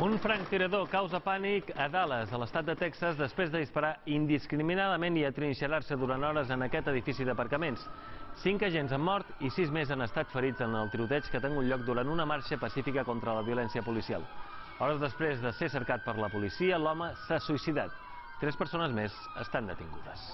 Un franctirador causa pànic a Dallas, a l'estat de Texas, després de disparar indiscriminadament i atrinxerar-se durant hores en aquest edifici d'aparcaments. 5 agents han mort i 6 més han estat ferits en el tiroteig que ha tingut lloc durant una marxa pacífica contra la violència policial. Hores després de ser cercat per la policia, l'home s'ha suïcidat. 3 persones més estan detingudes.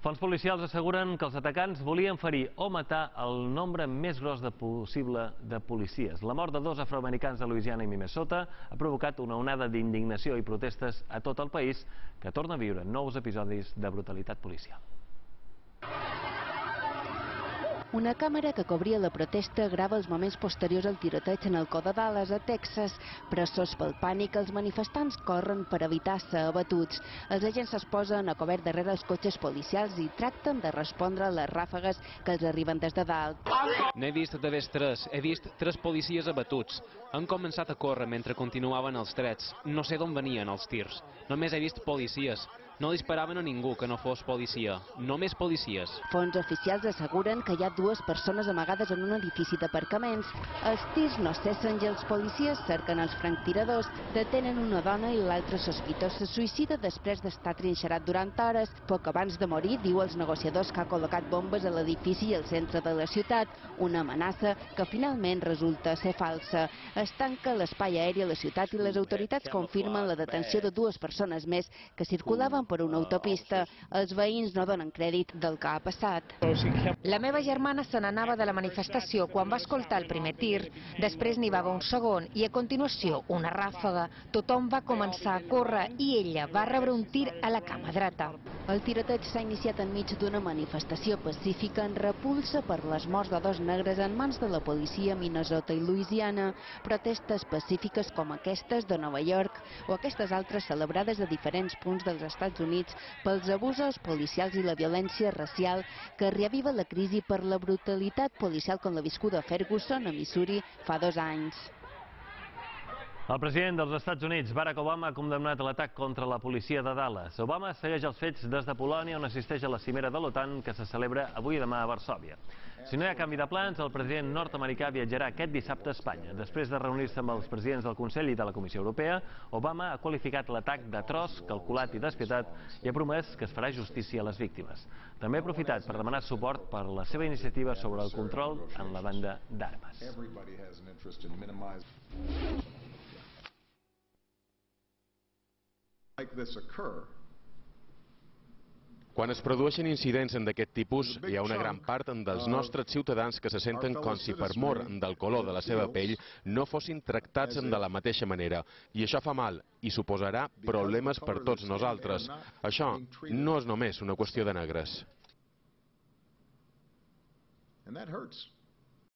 Fonts policials asseguren que els atacants volien ferir o matar el nombre més gros possible de policies. La mort de 2 afroamericans de Louisiana i Minnesota ha provocat una onada d'indignació i protestes a tot el país, que torna a viure nous episodis de brutalitat policial. Una càmera que cobria la protesta grava els moments posteriors al tiroteig en el cor de Dallas, a Texas. Pressos pel pànic, els manifestants corren per evitar ser abatuts. Els agents es posen a cobert darrere els cotxes policials i tracten de respondre a les ràfegues que els arriben des de dalt. N'he vist d'haver 3. He vist 3 policies abatuts. Han començat a córrer mentre continuaven els trets. No sé d'on venien els tirs. Només he vist policies. No disparaven a ningú que no fos policia. Només policies. Fonts oficials asseguren que hi ha 2 persones amagades en un edifici d'aparcaments. Els tirs no cessen i els policies cerquen els franctiradors. Detenen una dona i l'altre sospitós se suïcida després d'estar trinxerat durant hores. Poc abans de morir, diu als negociadors que ha col·locat bombes a l'edifici i al centre de la ciutat. Una amenaça que finalment resulta ser falsa. Es tanca l'espai aeri a la ciutat i les autoritats confirmen la detenció de 2 persones més que circulaven per una autopista. Els veïns no donen crèdit del que ha passat. La meva germana se n'anava de la manifestació quan va escoltar el primer tir. Després n'hi va haver un segon i a continuació una ràfega. Tothom va començar a córrer i ella va rebre un tir a la cama dreta. El tiroteig s'ha iniciat enmig d'una manifestació pacífica en repulsa per les morts de 2 negres en mans de la policia a Minnesota i Louisiana. Protestes pacífiques com aquestes de Nova York o aquestes altres celebrades a diferents punts dels Estats Units pels abusos policials i la violència racial que reaviva la crisi per la brutalitat policial com la viscuda a Ferguson, a Missouri, fa 2 anys. El president dels Estats Units, Barack Obama, ha condemnat l'atac contra la policia de Dallas. Obama segueix els fets des de Polònia, on assisteix a la cimera de l'OTAN, que se celebra avui i demà a Varsòvia. Si no hi ha canvi de plans, el president nord-americà viatjarà aquest dissabte a Espanya. Després de reunir-se amb els presidents del Consell i de la Comissió Europea, Obama ha qualificat l'atac d'atroç, calculat i despietat i ha promès que es farà justícia a les víctimes. També ha aprofitat per demanar suport per la seva iniciativa sobre el control en la venda d'armes. Quan es produeixen incidents d'aquest tipus, hi ha una gran part dels nostres ciutadans que se senten com si per mor del color de la seva pell no fossin tractats de la mateixa manera. I això fa mal i suposarà problemes per tots nosaltres. Això no és només una qüestió de negres. And that hurts.